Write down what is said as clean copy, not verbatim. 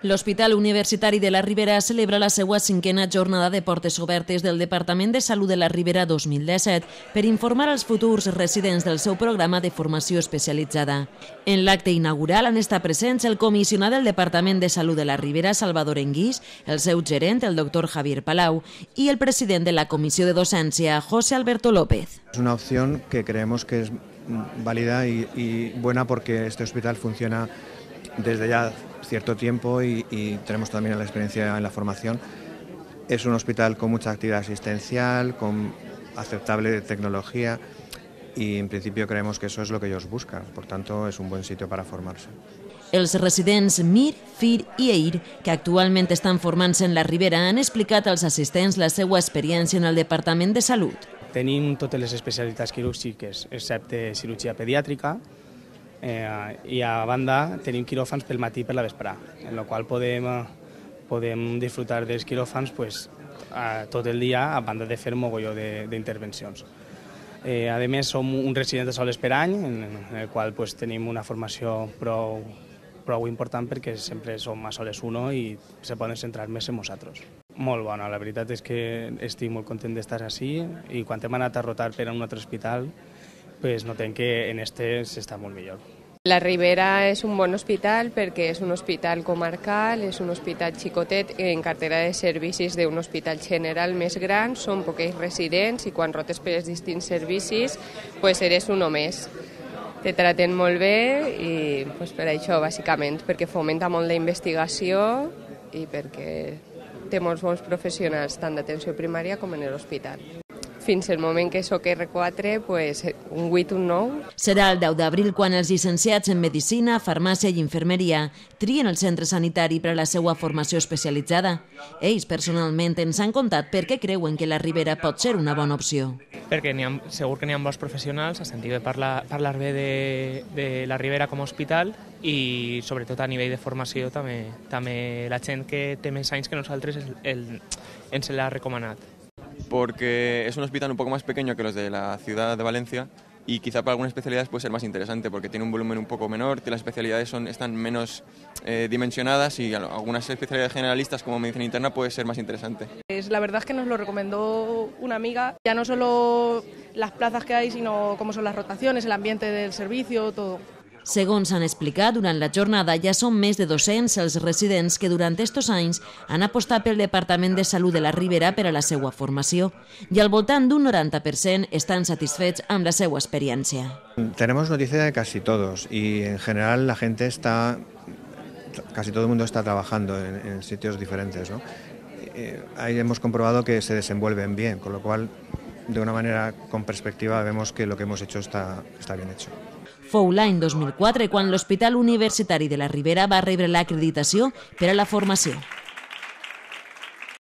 L'Hospital Universitari de la Ribera celebra la seva 5a jornada de portes obertes del Departament de Salut de la Ribera 2017 per informar als futurs residents del seu programa de formació especialitzada. En l'acte inaugural han estat presents el comissionat del Departament de Salut de la Ribera, Salvador Enguix, el seu gerent, el doctor Javier Palau, y el president de la Comissió de Docència, José Alberto López. Es una opción que creemos que es válida y buena porque este hospital funciona desde ya cierto tiempo y tenemos también la experiencia en la formación. Es un hospital con mucha actividad asistencial, con aceptable tecnología y en principio creemos que eso es lo que ellos buscan, por tanto es un buen sitio para formarse. Els residents Mir, Fir i Eir, que actualment estan formant-se en la Ribera, han explicat als assistents la seva experiència en el Departament de Salut. Tenim totes les especialitats quirúrgiques, excepte cirurgia pediàtrica, i a banda tenim quiròfans pel matí i per la vesprà, en la qual podem disfrutar dels quiròfans tot el dia, a banda de fer un mogolló d'intervencions. A més, som un resident de soles per any, en el qual tenim una formació prou important perquè sempre som a soles 1 i se poden centrar més en nosaltres. Molt bona, la veritat és que estic molt content d'estar així i quan hem anat a rotar per a un altre hospital notem que en este s'està molt millor. La Ribera és un bon hospital perquè és un hospital comarcal, és un hospital xicotet en cartera de servicis d'un hospital general més gran, són pocs residents i quan rotes per els distints servicis eres un més. Te traten molt bé i per això, bàsicament, perquè fomenta molt la investigació i perquè té molts bons professionals tant d'atenció primària com en l'hospital. Fins al moment que soc R4, un 8, un 9. Serà el 10 d'abril quan els llicenciats en Medicina, Farmàcia i Infermeria trien el centre sanitari per a la seva formació especialitzada. Ells personalment ens han contat per què creuen que la Ribera pot ser una bona opció. Perquè segur que n'hi ha bons professionals, a sentit de parlar bé de la Ribera com a hospital i sobretot a nivell de formació també la gent que té més anys que nosaltres ens l'ha recomanat. Porque es un hospital un poco más pequeño que los de la ciudad de Valencia y quizá para algunas especialidades puede ser más interesante porque tiene un volumen un poco menor, que las especialidades están menos dimensionadas y algunas especialidades generalistas como medicina interna puede ser más interesante. La verdad es que nos lo recomendó una amiga, ya no solo las plazas que hay, sino cómo son las rotaciones, el ambiente del servicio, todo. Segons han explicat, durant la jornada ja són més de 200 els residents que durant estos anys han apostat pel Departament de Salut de la Ribera per a la seva formació i al voltant d'un 90% estan satisfets amb la seva experiència. Tenemos noticia de casi todos y en general la gente casi todo el mundo está trabajando en sitios diferentes, ¿no? Ahí hemos comprobado que se desenvuelven bien, con lo cual de una manera con perspectiva vemos que lo que hemos hecho está bien hecho. Fou l'any 2004 quan l'Hospital Universitari de la Ribera va rebre l'acreditació per a la formació.